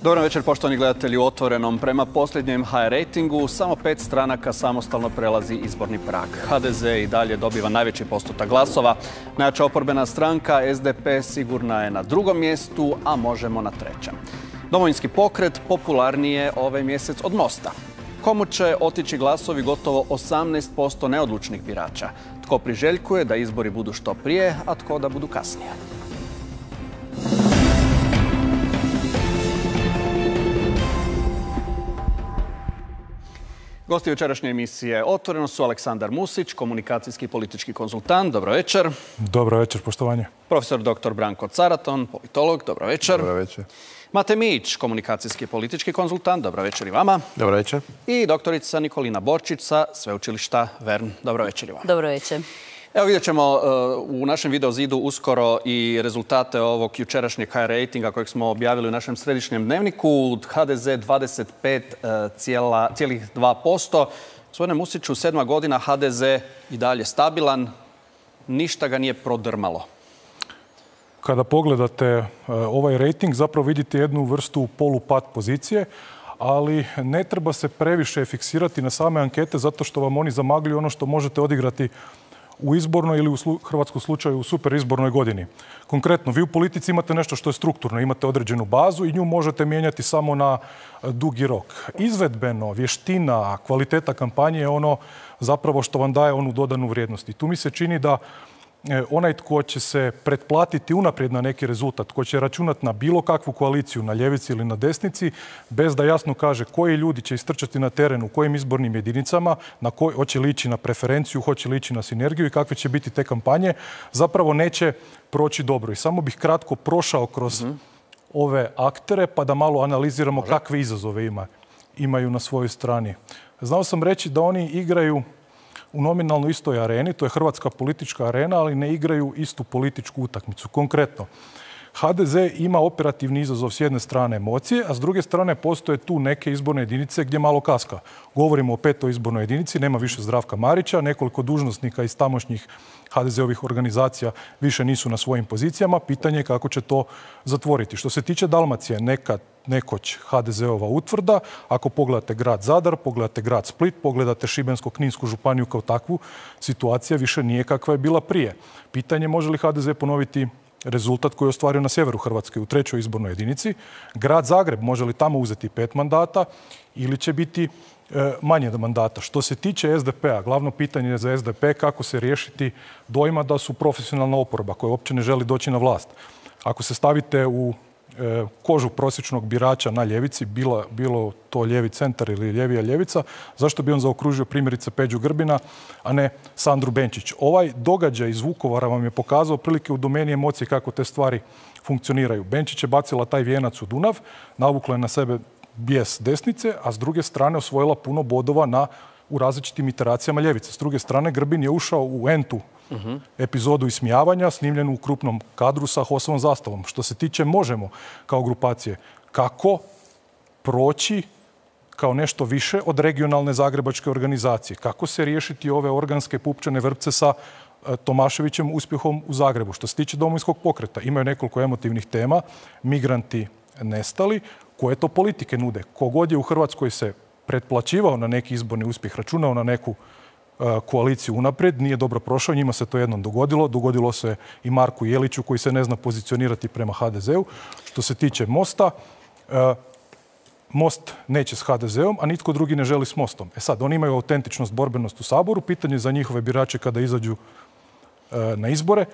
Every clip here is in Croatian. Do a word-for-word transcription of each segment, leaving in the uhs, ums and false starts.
Dobar večer, poštovani gledatelji u Otvorenom. Prema posljednjem H R rejtingu, samo pet stranaka samostalno prelazi izborni prag. H D Z i dalje dobiva najveći postotak glasova. Najjača oporbena stranka S D P sigurna je na drugom mjestu, a Možemo na trećem. Domovinski pokret popularniji je ovaj mjesec od Mosta. Komu će otići glasovi gotovo osamnaest posto neodlučnih birača? Tko priželjkuje da izbori budu što prije, a tko da budu kasnije? Gosti večerašnje emisije Otvoreno su Aleksandar Musić, komunikacijski i politički konzultant. Dobro večer. Dobro večer, poštovanje. Profesor doktor Branko Caraton, politolog. Dobro večer. Dobro večer. Mate Mijić, komunikacijski i politički konzultant. Dobro večer i vama. Dobro večer. I doktorica Nikolina Borčić sa Sveučilišta Vern. Dobro večer i vama. Dobro večer. Evo vidjet ćemo uh, u našem video zidu uskoro i rezultate ovog jučerašnjeg H R rejtinga kojeg smo objavili u našem središnjem dnevniku. H D Z dvadeset pet zarez dva posto. Gospodine Musiću, sedma godina H D Z i dalje stabilan. Ništa ga nije prodrmalo. Kada pogledate uh, ovaj rejting, zapravo vidite jednu vrstu polupad pozicije, ali ne treba se previše fiksirati na same ankete zato što vam oni zamagljuju ono što možete odigrati u izbornoj ili u slu, hrvatskom slučaju u super izbornoj godini. Konkretno, vi u politici imate nešto što je strukturno, imate određenu bazu i nju možete mijenjati samo na dugi rok. Izvedbeno, vještina, kvaliteta kampanje je ono zapravo što vam daje onu dodanu vrijednost. I tu mi se čini da onaj tko će se pretplatiti unaprijed na neki rezultat, tko će računati na bilo kakvu koaliciju, na ljevici ili na desnici, bez da jasno kaže koji ljudi će istrčati na teren u kojim izbornim jedinicama, na koj, hoće li ići na preferenciju, hoće li ići na sinergiju i kakve će biti te kampanje, zapravo neće proći dobro. I samo bih kratko prošao kroz mm-hmm. ove aktere pa da malo analiziramo Može. kakve izazove ima, imaju na svojoj strani. Znao sam reći da oni igraju u nominalno istoj areni, to je hrvatska politička arena, ali ne igraju istu političku utakmicu. Konkretno, H D Z ima operativni izazov s jedne strane emocije, a s druge strane postoje tu neke izborne jedinice gdje malo kaska. Govorimo o petoj izbornoj jedinici, nema više Zdravka Marića, nekoliko dužnosnika iz tamošnjih H D Z-ovih organizacija više nisu na svojim pozicijama. Pitanje je kako će to zatvoriti. Što se tiče Dalmacije, nekad nekoć H D Z-ova utvrda. Ako pogledate grad Zadar, pogledate grad Split, pogledate Šibensko-kninsku županiju kao takvu, situacija više nije kakva je bila prije. Pitanje je može li H D Z ponoviti rezultat koji je ostvario na sjeveru Hrvatske u trećoj izbornoj jedinici. Grad Zagreb, može li tamo uzeti pet mandata ili će biti e, manje mandata. Što se tiče S D P-a, glavno pitanje je za S D P kako se riješiti dojma da su profesionalna oporba koja uopće ne želi doći na vlast. Ako se stavite u e, kožu prosječnog birača na ljevici, bilo, bilo to lijevi centar ili ljevija ljevica, zašto bi on zaokružio primjerice Peđu Grbina, a ne Sandru Benčić? Ovaj događaj iz Vukovara vam je pokazao prilike u domeni emocije kako te stvari funkcioniraju. Benčić je bacila taj vijenac u Dunav, navukla je na sebe bijes desnice, a s druge strane osvojila puno bodova na, u različitim iteracijama ljevice. S druge strane, Grbin je ušao u entu uh-huh. epizodu ismijavanja, snimljenu u krupnom kadru sa Hosovom zastavom. Što se tiče Možemo kao grupacije, kako proći kao nešto više od regionalne zagrebačke organizacije? Kako se riješiti ove organske pupčane vrpce sa Tomaševićem uspjehom u Zagrebu? Što se tiče Domovinskog pokreta, imaju nekoliko emotivnih tema, migranti nestali, koje to politike nude. Kogod je u Hrvatskoj se pretplaćivao na neki izborni uspjeh, računao na neku uh, koaliciju unaprijed, nije dobro prošao, njima se to jednom dogodilo. Dogodilo se i Marku Jeliću koji se ne zna pozicionirati prema H D Z-u. Što se tiče Mosta, uh, Most neće s H D Z-om, a nitko drugi ne želi s Mostom. E sad, oni imaju autentičnost, borbenost u Saboru. Pitanje za njihove birače kada izađu uh, na izbore.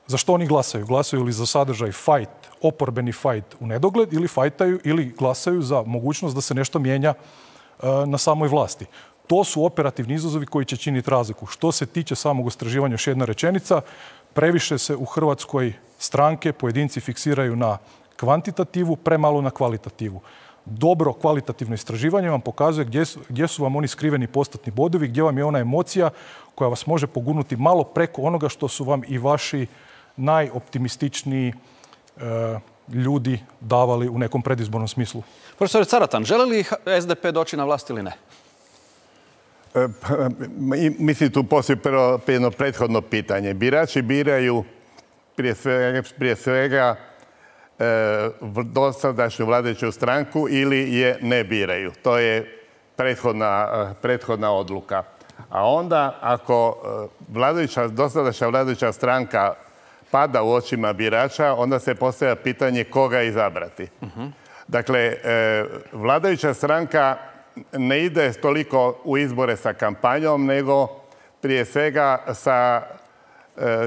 Za što oni glasaju? Glasaju li za sadržaj fight, oporbeni fight u nedogled ili fajtaju ili glasaju za mogućnost da se nešto mijenja uh, na samoj vlasti? To su operativni izazovi koji će činiti razliku. Što se tiče samog istraživanja, još jedna rečenica, previše se u Hrvatskoj stranke, pojedinci fiksiraju na kvantitativu, premalo na kvalitativu. Dobro kvalitativno istraživanje vam pokazuje gdje su, gdje su vam oni skriveni postotni bodovi, gdje vam je ona emocija koja vas može pogurnuti malo preko onoga što su vam i vaši najoptimističniji e, ljudi davali u nekom predizbornom smislu. Profesor Caratan, želi li S D P doći na vlast ili ne? E, mislim, tu postoji prvo jedno prethodno pitanje. Birači biraju prije svega, prije svega dosadašnju vladajuću stranku ili je ne biraju. To je prethodna, prethodna odluka. A onda, ako vladajuća, dosadašnja vladajuća stranka pada u očima birača, onda se postavlja pitanje koga izabrati. Uh-huh. Dakle, vladajuća stranka ne ide toliko u izbore sa kampanjom, nego prije svega sa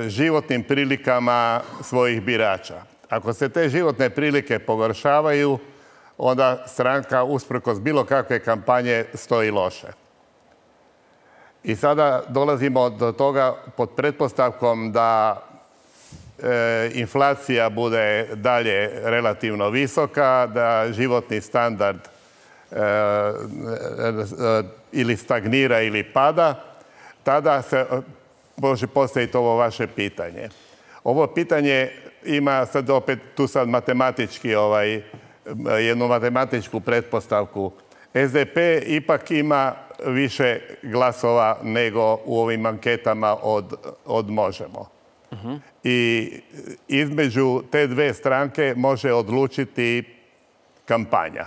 životnim prilikama svojih birača. Ako se te životne prilike pogoršavaju, onda stranka usprkos bilo kakve kampanje stoji loše. I sada dolazimo do toga pod pretpostavkom da e, inflacija bude dalje relativno visoka, da životni standard e, e, ili stagnira ili pada, tada se može postaviti ovo vaše pitanje. Ovo pitanje ima sad opet tu sad matematički ovaj, jednu matematičku pretpostavku. S D P ipak ima više glasova nego u ovim anketama od, od Možemo. Uh-huh. I između te dve stranke može odlučiti kampanja.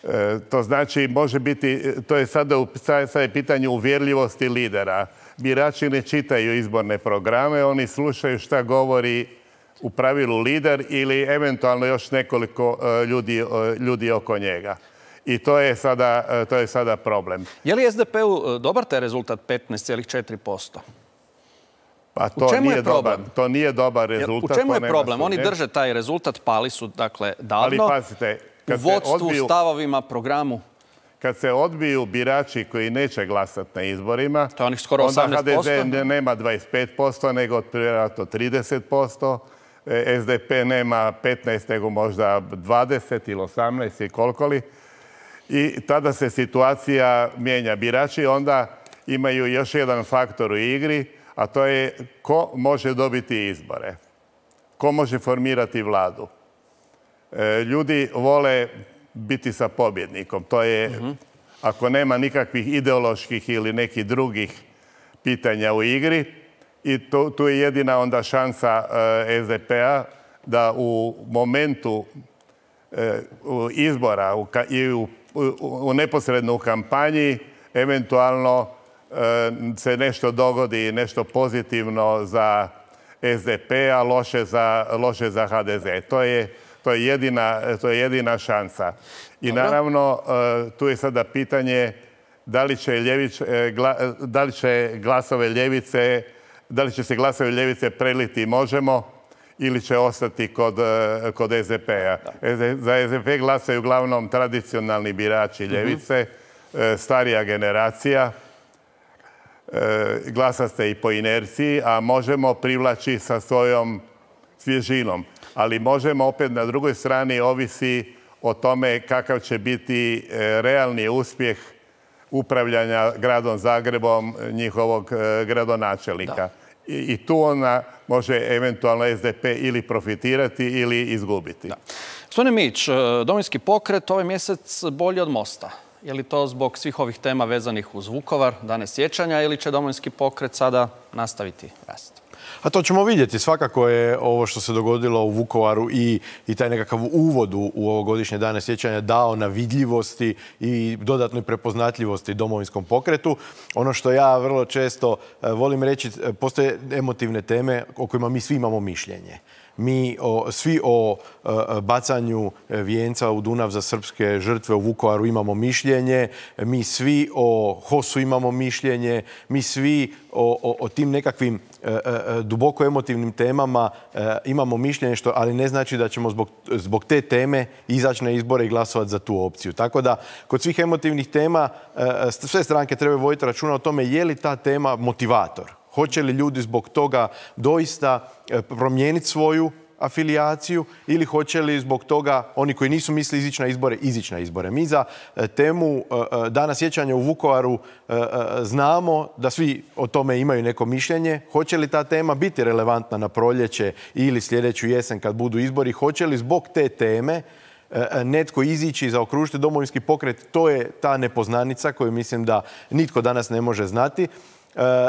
E, to znači, može biti, to je sada, u, sada je pitanje uvjerljivosti lidera. Birači ne čitaju izborne programe, oni slušaju šta govori u pravilu lider ili eventualno još nekoliko ljudi, ljudi oko njega. I to je sada, to je sada problem. Je li S D P-u dobar taj rezultat petnaest zarez četiri posto? Pa to nije dobar, to nije dobar rezultat. U čemu je problem? Oni drže taj rezultat, pali su dakle davno. Ali pazite, u vodstvu, odbiju, stavovima, programu. Kad se odbiju birači koji neće glasati na izborima, to je onih skoro osamnaest posto. Onda H D Z nema dvadeset pet posto, nego vjerojatno trideset posto. S D P nema petnaest, nego možda dvadeset ili osamnaest i koliko li. I tada se situacija mijenja. Birači onda imaju još jedan faktor u igri, a to je ko može dobiti izbore. Ko može formirati vladu. Ljudi vole biti sa pobjednikom. To je, uh-huh. ako nema nikakvih ideoloških ili nekih drugih pitanja u igri, i to, tu je jedina onda šansa uh, S D P-a da u momentu uh, izbora u, i u, u, u neposredno u kampanji eventualno uh, se nešto dogodi, nešto pozitivno za S D P, a loše za, loše za H D Z. To je, to je, jedina, to je jedina šansa. I Dobro. naravno, uh, tu je sada pitanje da li će, ljević, uh, gla, da li će glasove ljevice da li će se glasovi ljevice preliti Možemo ili će ostati kod, kod S D P-a. Za S D P glasaju uglavnom tradicionalni birači ljevice, uh-huh. starija generacija. Glasa se i po inerciji, a Možemo privlači sa svojom svježinom. Ali Možemo opet na drugoj strani ovisi o tome kakav će biti realni uspjeh upravljanja gradom Zagrebom njihovog gradonačelnika. I, I tu ona može eventualno S D P ili profitirati ili izgubiti. Da. Gospodine Mić, Domovinski pokret ovaj mjesec bolji od Mosta. Je li to zbog svih ovih tema vezanih uz Vukovar, dane sjećanja, ili će Domovinski pokret sada nastaviti rast? A to ćemo vidjeti. Svakako je ovo što se dogodilo u Vukovaru i, i taj nekakav uvod u, u ovogodišnje dane sjećanja dao na vidljivosti i dodatnoj prepoznatljivosti Domovinskom pokretu. Ono što ja vrlo često volim reći, postoje emotivne teme o kojima mi svi imamo mišljenje. Mi o, svi o e, bacanju vijenca u Dunav za srpske žrtve u Vukovaru imamo mišljenje, mi svi o Hosu imamo mišljenje, mi svi o, o, o tim nekakvim e, e, duboko emotivnim temama e, imamo mišljenje, što, ali ne znači da ćemo zbog, zbog te teme izaći na izbore i glasovati za tu opciju. Tako da, kod svih emotivnih tema e, sve stranke trebaju voditi računa o tome je li ta tema motivator. Hoće li ljudi zbog toga doista promijeniti svoju afilijaciju ili hoće li zbog toga oni koji nisu mislili izići na izbore, izići na izbore. Mi za temu Dana sjećanja u Vukovaru znamo da svi o tome imaju neko mišljenje. Hoće li ta tema biti relevantna na proljeće ili sljedeću jesen kad budu izbori? Hoće li zbog te teme netko izići i zaokružiti Domovinski pokret? To je ta nepoznanica koju mislim da nitko danas ne može znati.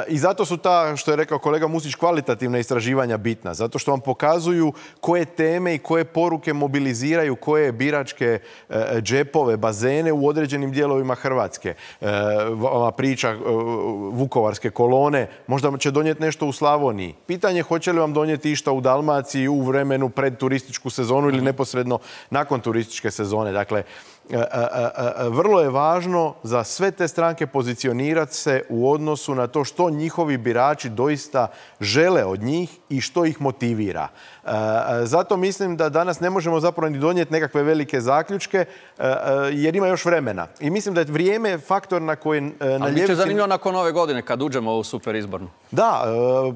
I zato su ta, što je rekao kolega Musić, kvalitativna istraživanja bitna. Zato što vam pokazuju koje teme i koje poruke mobiliziraju, koje biračke džepove, bazene u određenim dijelovima Hrvatske. Ova priča vukovarske kolone možda će donijeti nešto u Slavoniji. Pitanje je hoće li vam donijeti išta u Dalmaciji u vremenu pred turističku sezonu ili neposredno nakon turističke sezone. Dakle, vrlo je važno za sve te stranke pozicionirati se u odnosu na to što njihovi birači doista žele od njih i što ih motivira. Zato mislim da danas ne možemo zapravo ni donijeti nekakve velike zaključke jer ima još vremena. I mislim da je vrijeme faktor na koji na ljevici... Ali bit će zanimljivo nakon ove godine kad uđemo u super izbornu. Da,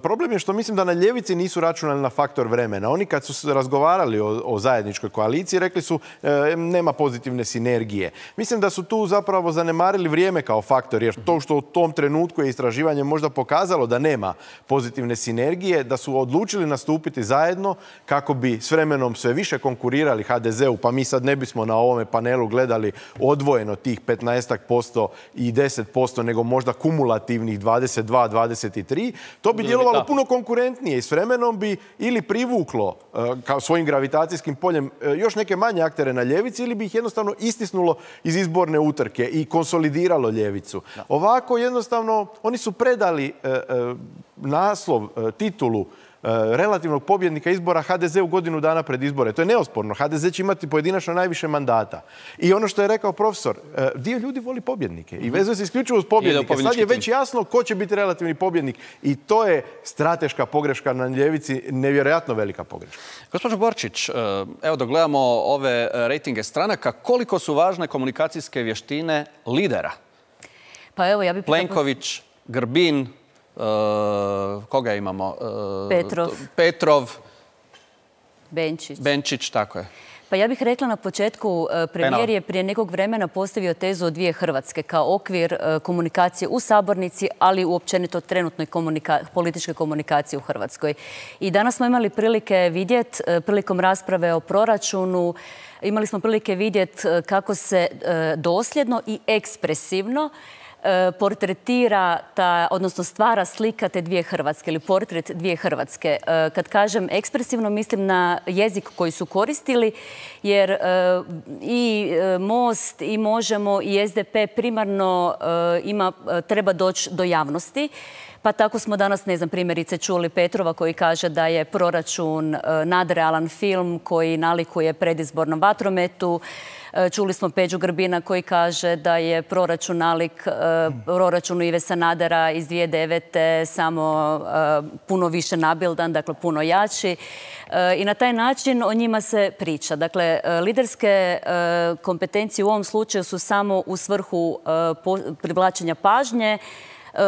problem je što mislim da na ljevici nisu računali na faktor vremena. Oni kad su razgovarali o, o zajedničkoj koaliciji rekli su nema pozitivne sinergije. Mislim da su tu zapravo zanemarili vrijeme kao faktor jer to što u tom trenutku je istraživanje možda pokazalo da nema pozitivne sinergije, da su odlučili nastupiti zajedno kako bi s vremenom sve više konkurirali ha de zeu, pa mi sad ne bismo na ovome panelu gledali odvojeno tih petnaest posto i deset posto, nego možda kumulativnih dvadeset dva dvadeset tri. To bi djelovalo puno konkurentnije i s vremenom bi ili privuklo kao svojim gravitacijskim poljem još neke manje aktere na ljevici ili bi ih jednostavno istisnulo iz izborne utrke i konsolidiralo ljevicu. Ovako jednostavno oni su predali naslov, titulu relativnog pobjednika izbora ha de zeu godinu dana pred izbore. To je neosporno. ha de ze će imati pojedinačno najviše mandata. I ono što je rekao profesor, dio ljudi voli pobjednike i vezuje se isključivo uz pobjednike. Sad je već jasno ko će biti relativni pobjednik i to je strateška pogreška na ljevici, nevjerojatno velika pogreška. Gospođo Borčić, evo da gledamo ove rejtinge stranaka, koliko su važne komunikacijske vještine lidera? Pa evo, ja bih... Plenković, Grbin, Uh, koga imamo? Uh, Petrov. Petrov. Benčić. Benčić, tako je. Pa ja bih rekla na početku, premijer je prije nekog vremena postavio tezu o dvije Hrvatske kao okvir komunikacije u sabornici, ali uopćenito trenutnoj komunika političke komunikacije u Hrvatskoj. I danas smo imali prilike vidjeti, prilikom rasprave o proračunu, imali smo prilike vidjeti kako se dosljedno i ekspresivno portretira, ta, odnosno stvara slika te dvije Hrvatske ili portret dvije Hrvatske. Kad kažem ekspresivno, mislim na jezik koji su koristili, jer i Most, i Možemo, i es de pe primarno ima, treba doći do javnosti. Pa tako smo danas, ne znam, primjerice čuli Petrova koji kaže da je proračun nadrealan film koji nalikuje predizbornom vatrometu. Čuli smo Peđu Grbina koji kaže da je proračun nalik proračunu Ive Sanadera iz dvije tisuće devete samo puno više nabildan, dakle puno jači. I na taj način o njima se priča. Dakle, liderske kompetencije u ovom slučaju su samo u svrhu privlačenja pažnje.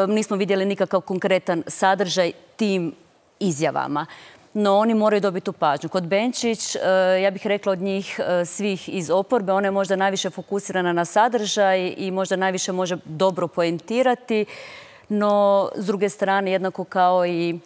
Nismo vidjeli nikakav konkretan sadržaj tim izjavama. No, oni moraju dobiti tu pažnju. Kod Benčić, ja bih rekla od njih svih iz oporbe, ona je možda najviše fokusirana na sadržaj i možda najviše može dobro poentirati, no s druge strane, jednako kao i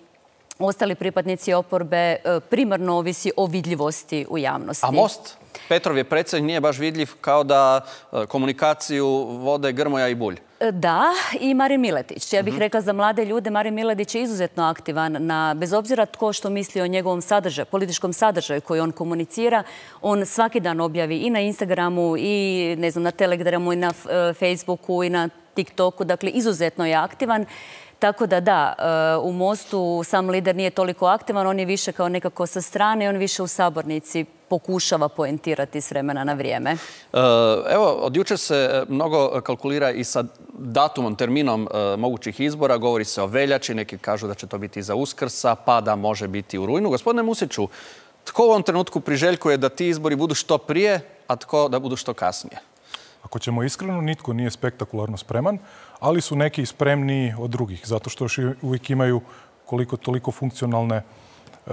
ostali pripadnici oporbe, primarno ovisi o vidljivosti u javnosti. A Most? Petrov je predsjednik, nije baš vidljiv, kao da komunikaciju vode Grmoja i Bulj. Da, i Marin Miletić. Ja bih rekla za mlade ljude, Marin Miletić je izuzetno aktivan, na, bez obzira tko što misli o njegovom sadržaju, političkom sadržaju koji on komunicira. On svaki dan objavi i na Instagramu, i ne znam, na Telegramu, i na Facebooku, i na TikToku. Dakle, izuzetno je aktivan. Tako da da, u Mostu sam lider nije toliko aktivan, on je više kao nekako sa strane, on više u sabornici pokušava poentirati s vremena na vrijeme. Evo, od jučer se mnogo kalkulira i sa datumom, terminom mogućih izbora. Govori se o veljači, neki kažu da će to biti iza Uskrsa, pa da može biti u rujnu. Gospodine Musiću, tko u ovom trenutku priželjkuje da ti izbori budu što prije, a tko da budu što kasnije? Ako ćemo iskreno, nitko nije spektakularno spreman, ali su neki spremniji od drugih, zato što još uvijek imaju koliko toliko funkcionalne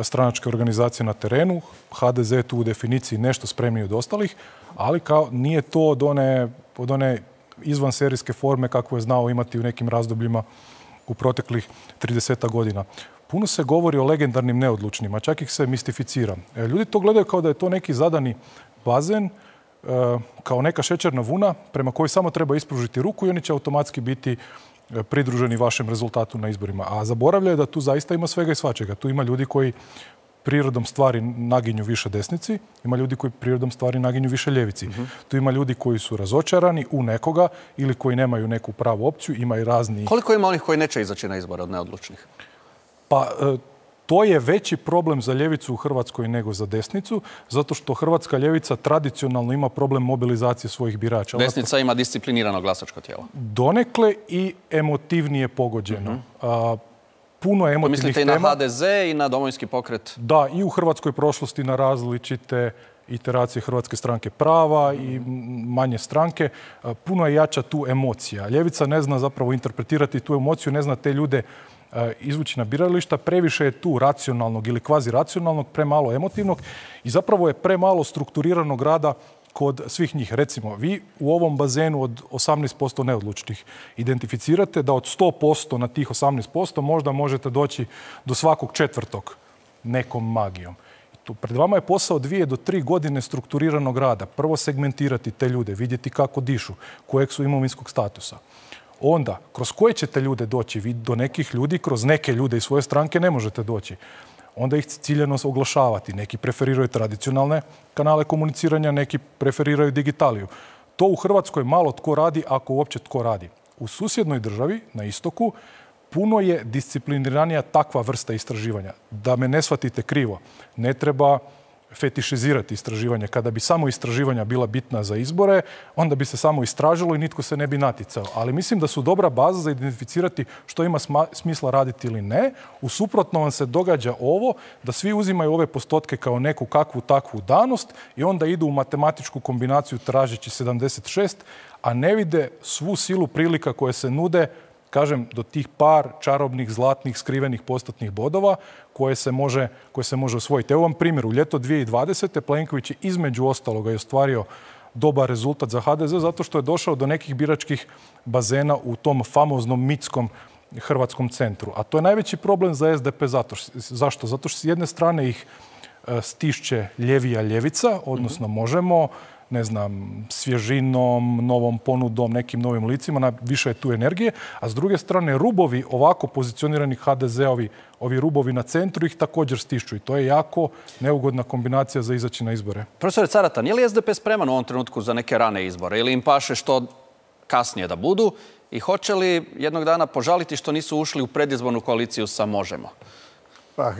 stranačke organizacije na terenu. ha de ze je tu u definiciji nešto spremniji od ostalih, ali kao nije to od one, od one izvanserijske forme kakvu je znao imati u nekim razdobljima u proteklih tridesetak godina. Puno se govori o legendarnim neodlučnima, čak ih se mistificira. Ljudi to gledaju kao da je to neki zadani bazen, kao neka šećerna vuna prema kojoj samo treba ispružiti ruku i oni će automatski biti pridruženi vašem rezultatu na izborima. A zaboravljaju da tu zaista ima svega i svačega. Tu ima ljudi koji prirodom stvari naginju više desnici, ima ljudi koji prirodom stvari naginju više ljevici. Mm-hmm. Tu ima ljudi koji su razočarani u nekoga ili koji nemaju neku pravu opciju, ima i razni... Koliko ima onih koji neće izaći na izbore od neodlučnih? Pa to je veći problem za ljevicu u Hrvatskoj nego za desnicu, zato što hrvatska ljevica tradicionalno ima problem mobilizacije svojih birača. Desnica ima disciplinirano glasačko tijelo. Donekle i emotivnije pogođeno. Mm-hmm. A, puno emotivnih tema. Mislite i na ha de ze i na Domovinski pokret? Da, i u hrvatskoj prošlosti na različite iteracije Hrvatske stranke prava i manje stranke. Puno je jača tu emocija. Ljevica ne zna zapravo interpretirati tu emociju, ne zna te ljude izvući na birališta. Previše je tu racionalnog ili kvazi racionalnog, premalo emotivnog i zapravo je premalo strukturiranog rada kod svih njih. Recimo, vi u ovom bazenu od osamnaest posto neodlučnih identificirate da od sto posto na tih osamnaest posto možda možete doći do svakog četvrtog nekom magijom. Tu pred vama je posao dvije do tri godine strukturiranog rada. Prvo segmentirati te ljude, vidjeti kako dišu, kojeg su imovinskog statusa. Onda, kroz koje ćete ljude doći? Vi do nekih ljudi, kroz neke ljude iz svoje stranke ne možete doći. Onda ih ciljano oglašavati. Neki preferiraju tradicionalne kanale komuniciranja, neki preferiraju digitaliju. To u Hrvatskoj malo tko radi, ako uopće tko radi. U susjednoj državi, na istoku, puno je discipliniranija takva vrsta istraživanja. Da me ne shvatite krivo, ne treba fetišizirati istraživanje. Kada bi samo istraživanja bila bitna za izbore, onda bi se samo istražilo i nitko se ne bi naticao. Ali mislim da su dobra baza za identificirati što ima smisla raditi ili ne. U suprotno vam se događa ovo, da svi uzimaju ove postotke kao neku kakvu takvu danost i onda idu u matematičku kombinaciju tražeći sedamdeset šest, a ne vide svu silu prilika koje se nude, kažem, do tih par čarobnih, zlatnih, skrivenih postotnih bodova koje se može, koje se može osvojiti. Evo vam primjer. U ljeto dvije tisuće dvadesete. Plenković je između ostaloga je ostvario dobar rezultat za ha de ze zato što je došao do nekih biračkih bazena u tom famoznom mitskom hrvatskom centru. A to je najveći problem za es de pe. Zato, zašto? Zato što s jedne strane ih stišće ljevija ljevica, odnosno Možemo, ne znam, svježinom, novom ponudom, nekim novim licima, na više je tu energije, a s druge strane rubovi ovako pozicionirani ha de ze-ovi, ovi rubovi na centru ih također stišću i to je jako neugodna kombinacija za izaći na izbore. Profesor Caratan, je li es de pe spreman u ovom trenutku za neke rane izbore ili im paše što kasnije da budu i hoće li jednog dana požaliti što nisu ušli u predizbornu koaliciju sa Možemo? Pa,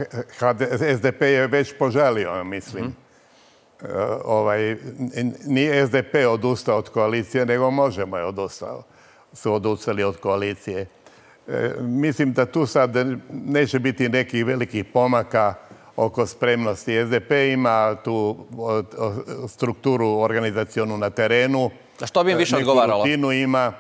es de pe je već požalio, mislim. Mm-hmm. Ovaj, nije es de pe odustao od koalicije, nego Možemo je odustao. Su odustali od koalicije. E, mislim da tu sad neće biti nekih velikih pomaka oko spremnosti. es de pe ima tu o, o, strukturu organizacionu na terenu. A što bi im više odgovaralo? Rutinu ima.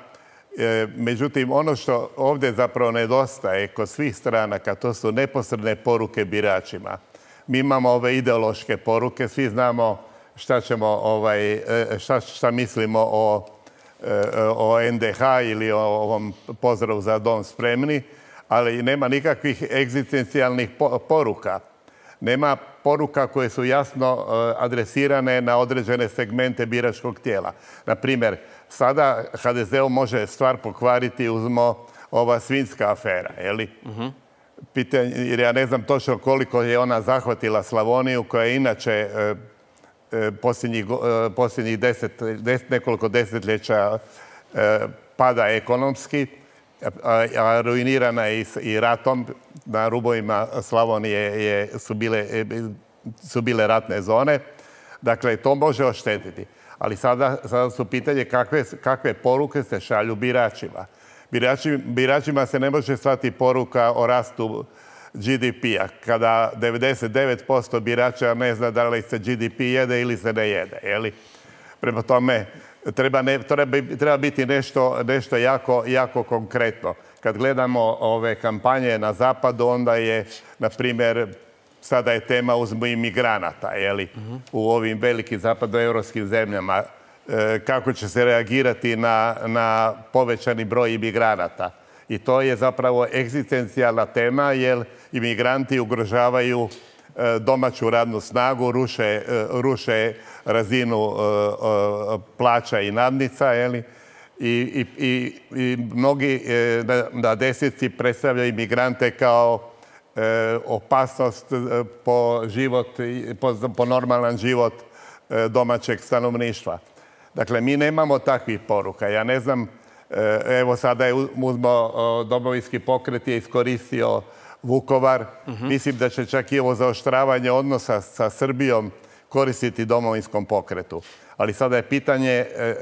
E, međutim, ono što ovdje zapravo nedostaje kod svih stranaka, to su neposredne poruke biračima. Mi imamo ove ideološke poruke, svi znamo šta ćemo, ovaj, šta, šta mislimo o, o en de ha ili o ovom pozdravu za dom spremni, ali nema nikakvih egzistencijalnih poruka. Nema poruka koje su jasno adresirane na određene segmente biračkog tijela. Na primjer, sada ha de ze može stvar pokvariti, uzmo ova svinjska afera, je li? Uh-huh. Pitanje, jer ja ne znam točno koliko je ona zahvatila Slavoniju, koja je inače e, e, posljednjih, e, posljednjih deset, deset, nekoliko desetljeća e, pada ekonomski, a, a ruinirana je i, i ratom. Na rubovima Slavonije je, su, bile, su bile ratne zone. Dakle, to može oštetiti. Ali sada, sada su pitanje kakve, kakve poruke se šalju biračima. Birači, biračima se ne može slati poruka o rastu ge de pe-a, kada devedeset devet posto birača ne zna da li se ge de pe jede ili se ne jede. Jeli? Prema tome, treba, ne, treba, treba biti nešto, nešto jako, jako konkretno. Kad gledamo ove kampanje na zapadu, onda je, na primjer, sada je tema uzmo imigranata, jeli? Uh-huh. U ovim velikim zapadnoevropskim zemljama. Kako će se reagirati na, na povećani broj imigranata. I to je zapravo egzistencijalna tema, jer imigranti ugrožavaju domaću radnu snagu, ruše, ruše razinu plaća i nadnica, jeli? i, i, i, i mnogi e, na, na desnici predstavljaju imigrante kao e, opasnost po život, po, po normalan život e, domaćeg stanovništva. Dakle, mi nemamo takvih poruka. Ja ne znam, e, evo sada je uzmo Domovinski pokret je iskoristio Vukovar. Uh-huh. Mislim da će čak i ovo zaoštravanje odnosa sa Srbijom koristiti Domovinskom pokretu. Ali sada je pitanje e,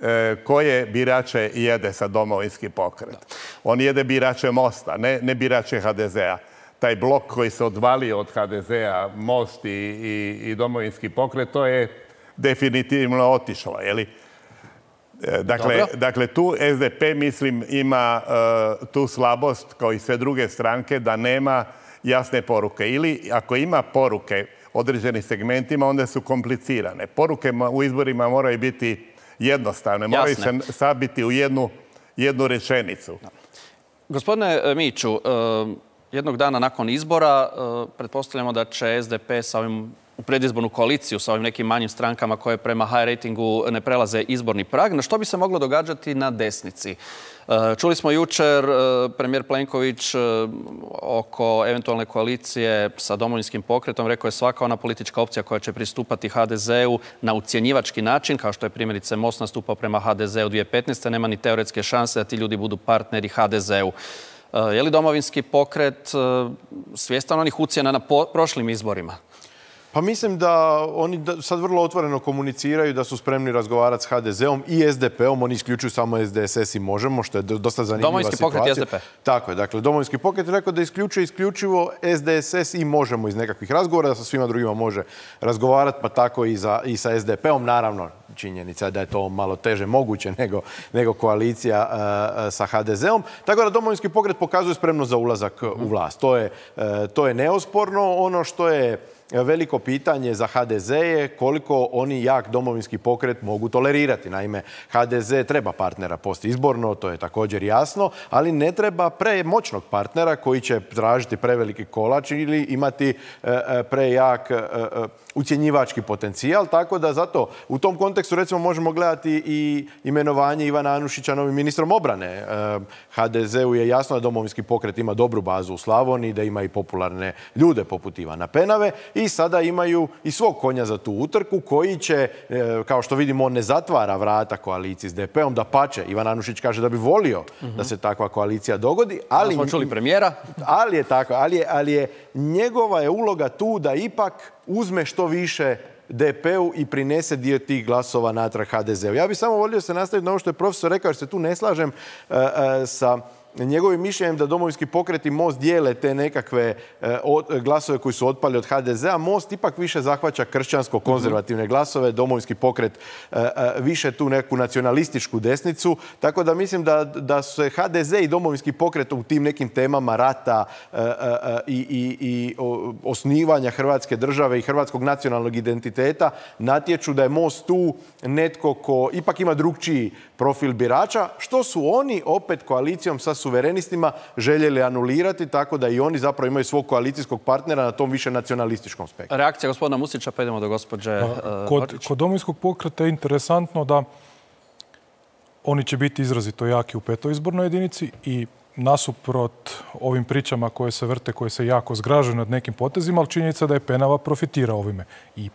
e, koje birače jede sa Domovinski pokret. Da. On jede birače Mosta, ne, ne birače ha de zea. Taj blok koji se odvalio od ha de zea, Most i, i, i Domovinski pokret, to je definitivno otišlo. Je li? Dakle, dakle, tu es de pe, mislim, ima uh, tu slabost, kao i sve druge stranke, da nema jasne poruke. Ili, ako ima poruke određenim segmentima, onda su komplicirane. Poruke u izborima moraju biti jednostavne, moraju Jasne. se sabiti u jednu, jednu rečenicu. Da. Gospodine Miću, uh, jednog dana nakon izbora uh, pretpostavljamo da će es de pe sa ovim u predizbornu koaliciju sa ovim nekim manjim strankama koje prema high ratingu ne prelaze izborni prag. Na što bi se moglo događati na desnici? Čuli smo jučer premijer Plenković oko eventualne koalicije sa Domovinskim pokretom. Rekao je svaka ona politička opcija koja će pristupati ha de zeu na ucjenjivački način, kao što je primjerice Most nastupao prema ha de zeu dvije tisuće petnaeste. Nema ni teoretske šanse da ti ljudi budu partneri ha de zeu. Je li Domovinski pokret svjestan onih ucjena na prošlim izborima? Pa mislim da oni sad vrlo otvoreno komuniciraju da su spremni razgovarati s ha de zeom i es de peom. Oni isključuju samo es de es es i Možemo, što je dosta zanimljiva Domovinski situacija. Pokret i es de pe. Tako je. Dakle, Domovinski pokret je rekao da isključuje isključivo es de es es i Možemo iz nekakvih razgovora, da sa svima drugima može razgovarati, pa tako i, za, i sa es de peom. Naravno, činjenica da je to malo teže moguće nego, nego koalicija uh, sa ha de zeom. Tako da Domovinski pokret pokazuje spremnost za ulazak mm. u vlast. To je, uh, to je neosporno. Ono što je veliko pitanje za ha de ze je koliko oni jak Domovinski pokret mogu tolerirati. Naime, ha de ze treba partnera postizborno, to je također jasno, ali ne treba premoćnog partnera koji će tražiti preveliki kolač ili imati prejak ucjenjivački potencijal. Tako da zato u tom kontekstu recimo možemo gledati i imenovanje Ivana Anušića novim ministrom obrane. ha de zeu je jasno da Domovinski pokret ima dobru bazu u Slavoniji, da ima i popularne ljude poput Ivana Penave. I sada imaju i svog konja za tu utrku koji će, kao što vidimo, on ne zatvara vrata koaliciji s de peom, da pače. Ivan Anušić kaže da bi volio mm-hmm. da se takva koalicija dogodi. Ali smo čuli premijera. Ali je tako, ali je, ali je njegova je uloga tu da ipak uzme što više de peu i prinese dio tih glasova natrag ha de zeu. Ja bih samo volio se nastaviti na ovo što je profesor rekao, jer se tu ne slažem uh, uh, sa njegovim mišljenjem da Domovinski pokret i Most dijele te nekakve e, od, glasove koji su otpali od ha de zea. Most ipak više zahvaća kršćansko-konzervativne glasove, Domovinski pokret e, e, više tu neku nacionalističku desnicu. Tako da mislim da, da se ha de ze i Domovinski pokret u tim nekim temama rata e, e, i, i, i osnivanja Hrvatske države i hrvatskog nacionalnog identiteta natječu da je Most tu netko ko ipak ima drugčiji profil birača, što su oni opet koalicijom sa suverenistima željeli anulirati, tako da i oni zapravo imaju svog koalicijskog partnera na tom više nacionalističkom spektru. Reakcija gospodina Musića, pa idemo do gospođe uh, kod, kod Domovinskog pokreta je interesantno da oni će biti izrazito jaki u petoj izbornoj jedinici i nasuprot ovim pričama koje se vrte, koje se jako zgražuju nad nekim potezima, ali činjenica da je Penava profitirao ovime. I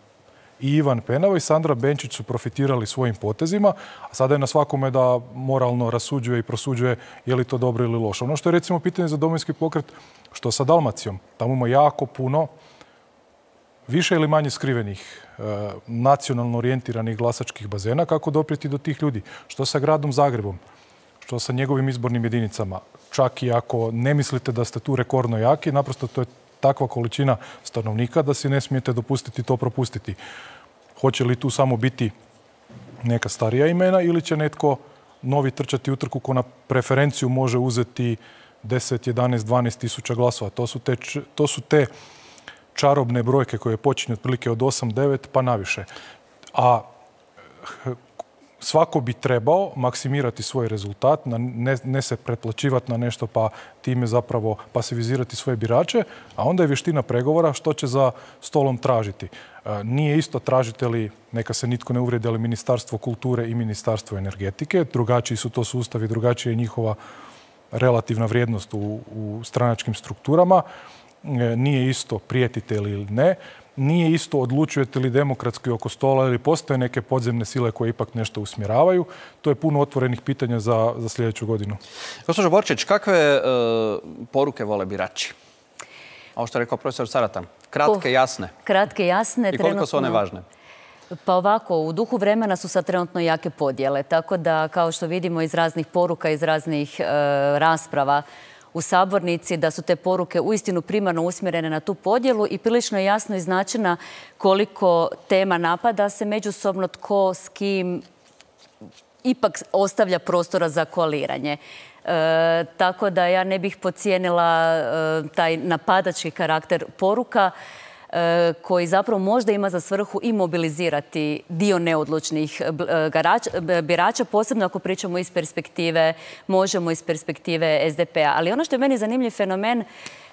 I Ivan Penava i Sandra Benčić su profitirali svojim potezima, a sada je na svakome da moralno rasuđuje i prosuđuje je li to dobro ili loše. Ono što je recimo pitanje za Domovinski pokret, što sa Dalmacijom? Tamo ima jako puno više ili manje skrivenih e, nacionalno orijentiranih glasačkih bazena. Kako doprijeti do tih ljudi? Što sa gradom Zagrebom? Što sa njegovim izbornim jedinicama? Čak i ako ne mislite da ste tu rekordno jaki, naprosto to je takva količina stanovnika da si ne smijete dopustiti to propustiti. Hoće li tu samo biti neka starija imena ili će netko novi trčati utrku ko na preferenciju može uzeti deset, jedanaest, dvanaest tisuća glasova? To su te, to su te čarobne brojke koje počinju otprilike od osam, devet pa naviše. A svako bi trebao maksimirati svoj rezultat, ne, ne se pretplaćivati na nešto pa time zapravo pasivizirati svoje birače, a onda je vještina pregovora što će za stolom tražiti. Nije isto tražite li, neka se nitko ne uvrijedi, ali Ministarstvo kulture i Ministarstvo energetike. Drugačiji su to sustavi, drugačija je njihova relativna vrijednost u, u stranačkim strukturama. Nije isto prijetite li ili ne. Nije isto odlučujete li demokratski oko stola ili postoje neke podzemne sile koje ipak nešto usmjeravaju. To je puno otvorenih pitanja za, za sljedeću godinu. Gospođo Borčić, kakve e, poruke vole birači? Ovo što je rekao profesor Saratan. Kratke, jasne. Kratke, jasne. I koliko su one važne? Pa ovako, u duhu vremena su sad trenutno jake podjele. Tako da, kao što vidimo iz raznih poruka, iz raznih e, rasprava u sabornici, da su te poruke uistinu primarno usmjerene na tu podjelu i prilično je jasno iznačena koliko tema napada se međusobno, tko s kim ipak ostavlja prostora za koaliranje. E, tako da ja ne bih podcijenila e, taj napadački karakter poruka e, koji zapravo možda ima za svrhu i mobilizirati dio neodlučnih garač, birača, posebno ako pričamo iz perspektive, možemo iz perspektive es de pe a. Ali ono što je meni zanimljiv fenomen,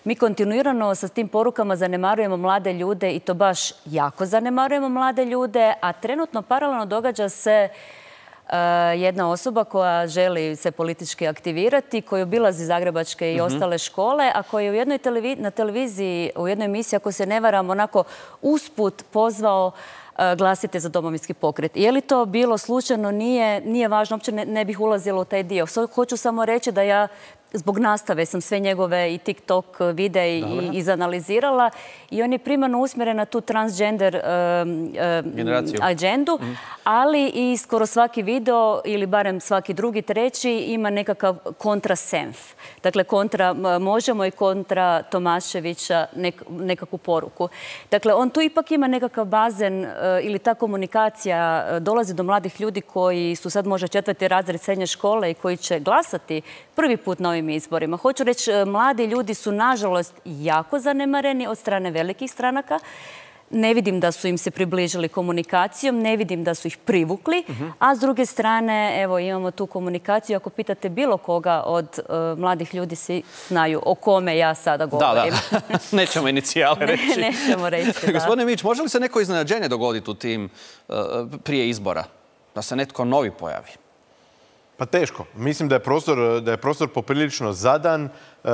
mi kontinuirano sa tim porukama zanemarujemo mlade ljude i to baš jako zanemarujemo mlade ljude, a trenutno paralelno događa se jedna osoba koja želi se politički aktivirati, koja obilazi zagrebačke i mm-hmm. ostale škole, a koja je u jednoj televiz na televiziji, u jednoj emisiji, ako se ne varam, onako usput pozvao uh, glasite za Domovinski pokret. Je li to bilo slučajno? Nije, nije važno, uopće ne, ne bih ulazila u taj dio. Hoću samo reći da ja zbog nastave sam sve njegove i TikTok videe i izanalizirala i on je primarno usmjeren na tu transgender um, um, agendu, mm. ali i skoro svaki video ili barem svaki drugi, treći ima nekakav kontra Senf. Dakle, kontra Možemo i kontra Tomaševića nek, nekakvu poruku. Dakle, on tu ipak ima nekakav bazen uh, ili ta komunikacija uh, dolazi do mladih ljudi koji su sad možda četvrti razred srednje škole i koji će glasati prvi put na ovim izborima. Hoću reći, mladi ljudi su nažalost jako zanemareni od strane velikih stranaka. Ne vidim da su im se približili komunikacijom, ne vidim da su ih privukli, uh-huh. a s druge strane, evo, imamo tu komunikaciju. Ako pitate bilo koga od uh, mladih ljudi, svi znaju o kome ja sada govorim. Da, da. Nećemo inicijale reći. Ne, nećemo reći, da. Gospodine Mić, može li se neko iznenađenje dogoditi u tim uh, prije izbora? Da se netko novi pojavi? Pa teško. Mislim da je prostor, da je prostor poprilično zadan uh,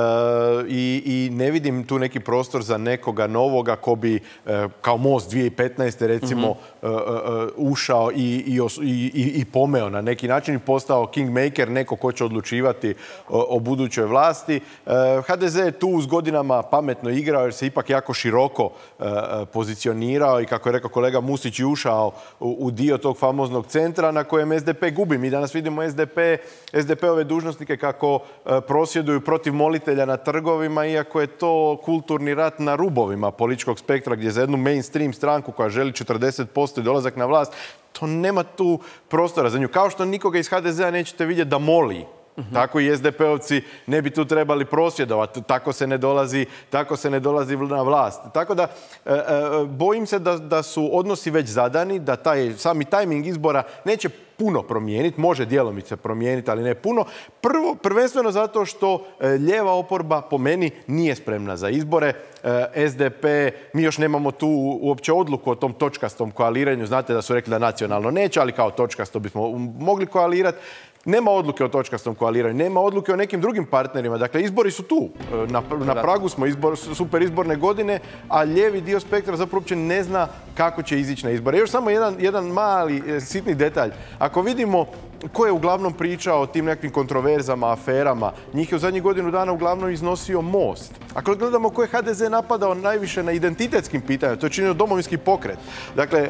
i, i ne vidim tu neki prostor za nekoga novoga ko bi uh, kao Most dvije tisuće petnaeste recimo mm-hmm. uh, uh, ušao i, i, i, i pomeo na neki način i postao kingmaker, neko ko će odlučivati o, o budućoj vlasti. Uh, ha de ze je tu s godinama pametno igrao jer se ipak jako široko uh, pozicionirao i kako je rekao kolega Musić i ušao u, u dio tog famoznog centra na kojem es de pe gubi. Mi danas vidimo es de pe, es de pe-ove dužnosnike kako uh, prosvjeduju protiv molitelja na trgovima, iako je to kulturni rat na rubovima političkog spektra gdje za jednu mainstream stranku koja želi četrdeset posto i dolazak na vlast, to nema tu prostora za nju. Kao što nikoga iz ha de ze-a nećete vidjeti da moli. Uh-huh. Tako i es de pe-ovci ne bi tu trebali prosvjedovati. Tako se ne dolazi, tako se ne dolazi na vlast. Tako da e, e, bojim se da, da su odnosi već zadani, da taj sami tajming izbora neće puno promijeniti, može djelomice promijeniti, ali ne puno. Prvo, prvenstveno zato što e, lijeva oporba po meni nije spremna za izbore. E, es de pe, mi još nemamo tu uopće odluku o tom točkastom koaliranju. Znate da su rekli da nacionalno neće, ali kao točkasto bismo mogli koalirati. Nema odluke o točkastom koaliranju, nema odluke o nekim drugim partnerima. Dakle, izbori su tu. Na, na pragu smo izbor, super izborne godine, a lijevi dio spektra zapravo uopće ne zna kako će izići na izbore. Još samo jedan, jedan mali, sitni detalj. Ako vidimo ko je uglavnom pričao o tim nekim kontroverzama, aferama, njih je u zadnjih godinu dana uglavnom iznosio Most. Ako gledamo ko je ha de ze napadao najviše na identitetskim pitanjima, to je činio Domovinski pokret. Dakle,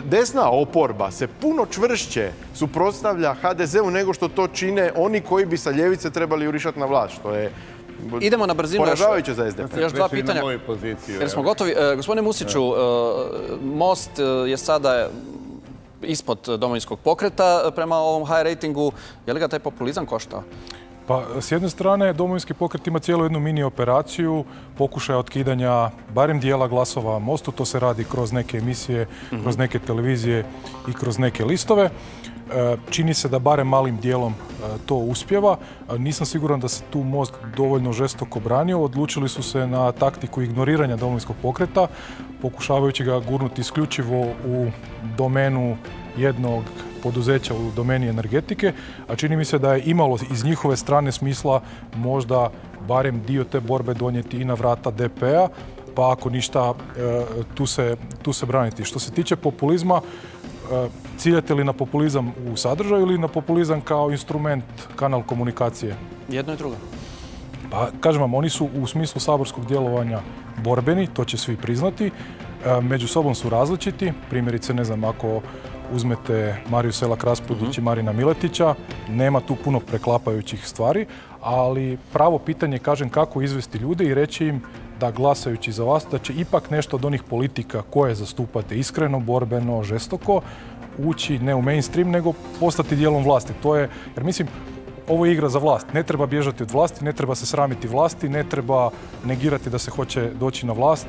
desna oporba se puno čvršće suprotstavlja ha de ze-u nego što to čine oni koji bi sa ljevice trebali jurišati na vlast, što je idemo na brzinu. Poražavajuće za es de pe. Još dva pitanja. Jer smo gotovi. Gospodine Musiću, Most je sada ispod Domovinskog pokreta prema ovom high ratingu. Je li ga taj populizam koštao? Pa, s jedne strane, Domovinski pokret ima cijelu jednu mini operaciju pokušaja otkidanja barem dijela glasova Mostu. To se radi kroz neke emisije, kroz neke televizije i kroz neke listove. Čini se da barem malim dijelom to uspjeva. Nisam siguran da se tu Most dovoljno žestoko branio. Odlučili su se na taktiku ignoriranja Domovinskog pokreta, pokušavajući ga gurnuti isključivo u domenu jednog poduzeća u domeni energetike, a čini mi se da je imalo iz njihove strane smisla možda barem dio te borbe donijeti i na vrata D P-a, pa ako ništa tu se, tu se braniti. Što se tiče populizma, ciljate li na populizam u sadržaju ili na populizam kao instrument, kanal komunikacije? Jedno i drugo. Pa, kažem vam, oni su u smislu saborskog djelovanja borbeni, to će svi priznati. Među sobom su različiti. Primjerice, ne znam, ako uzmete Mariju Selak-Raspudić i Marina Miletića, nema tu puno preklapajućih stvari, ali pravo pitanje, kažem, kako izvesti ljude i reći im da glasajući za vas, da će ipak nešto od onih politika koje zastupate iskreno, borbeno, žestoko, ući ne u mainstream, nego postati dijelom vlasti. To je, jer mislim, ovo je igra za vlast. Ne treba bježati od vlasti, ne treba se sramiti vlasti, ne treba negirati da se hoće doći na vlast.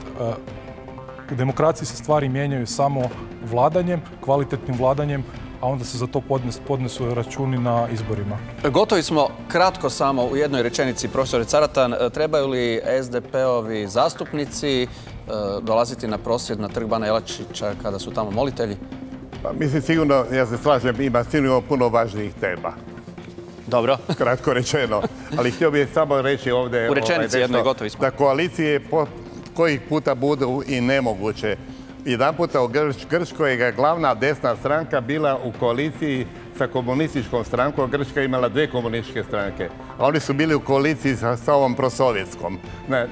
U demokraciji se stvari mijenjaju samo vladanjem, kvalitetnim vladanjem, a onda se za to podnes, podnesu računi na izborima. Gotovi smo. Kratko samo u jednoj rečenici, profesore Caratan, trebaju li S D P-ovi zastupnici dolaziti na prosvjed na trg Bana Jelačića kada su tamo molitelji? Pa, mislim, sigurno, ja se slažem, ima sigurno puno važnijih tema. Dobro. Kratko rečeno. Ali htio bih samo reći ovdje... U rečenici jednoj gotovi smo. Da koalicije po kojih puta budu i nemoguće. Jedan puta u Grčkoj je glavna desna stranka bila u koaliciji sa komunističkom strankom. Grčka je imala dvije komunističke stranke. A oni su bili u koaliciji sa, sa ovom prosovjetskom.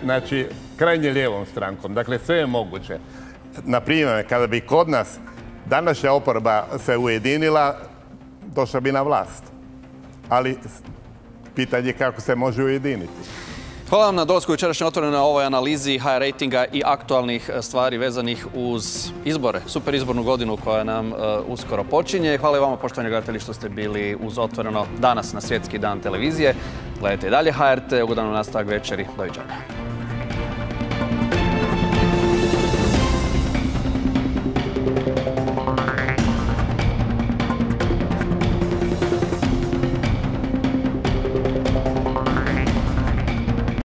Znači, krajnje lijevom strankom. Dakle, sve je moguće. Naprimjer, kada bi kod nas današnja oporba se ujedinila, došla bi na vlast. Ali pitanje je kako se može ujediniti. Hvala vam na dolasku jučerašnje Otvoreno na ovoj analizi H R rejtinga i aktualnih stvari vezanih uz izbore, super izbornu godinu koja nam uh, uskoro počinje. Hvala i vama, poštovani gledatelji, što ste bili uz Otvoreno danas na Svjetski dan televizije. Gledajte i dalje H R T, ugodan nastavak večeri. Doviđenja.